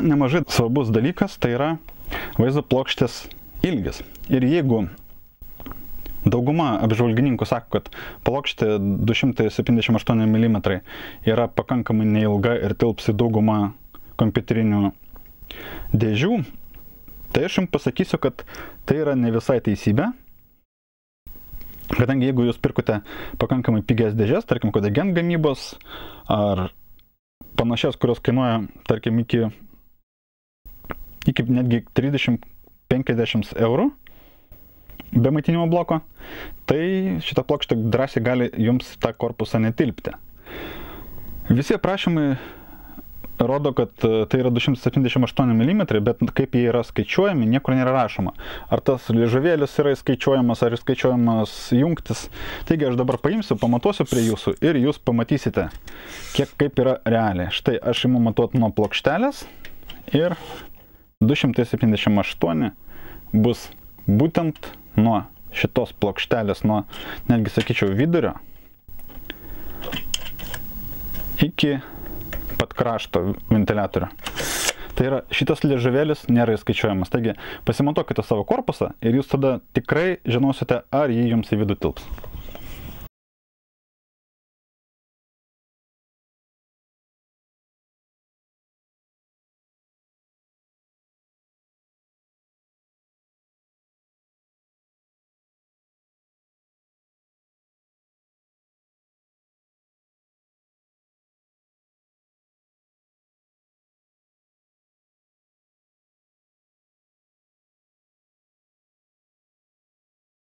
nemažai svarbus dalykas, tai yra vaizdo plokštės ilgis. Ir jeigu dauguma apžvalgininkų sako, kad plokštė 278 mm yra pakankamai neilga ir tilps į daugumą kompiuterinių dėžių, tai aš jums pasakysiu, kad tai yra ne visai teisybė. Kadangi jeigu jūs pirkote pakankamai pigias dėžes, tarkim, Kodegen gamybos ar panašias, kurios kainuoja, tarkim, iki netgi 30-50 eurų be maitinimo bloko, tai šita plokštė drąsiai gali jums tą korpusą netilpti. Visi aprašymai rodo, kad tai yra 278 mm, bet kaip jie yra skaičiuojami, niekur nėra rašoma. Ar tas liežuvėlis yra skaičiuojamas, ar skaičiuojamas jungtis. Taigi aš dabar paimsiu, pamatuosiu prie jūsų ir jūs pamatysite, kaip yra realiai. Štai aš imu matuoti nuo plokštelės ir 278 bus būtent nuo šitos plokštelės, nuo, netgi sakyčiau, vidurio iki pat krašto ventiliatorių. Tai yra, šitas liežuvėlis nėra įskaičiuojamas. Taigi, pasimatuokite savo korpusą ir jūs tada tikrai žinosite, ar jį jums į vidų tilps.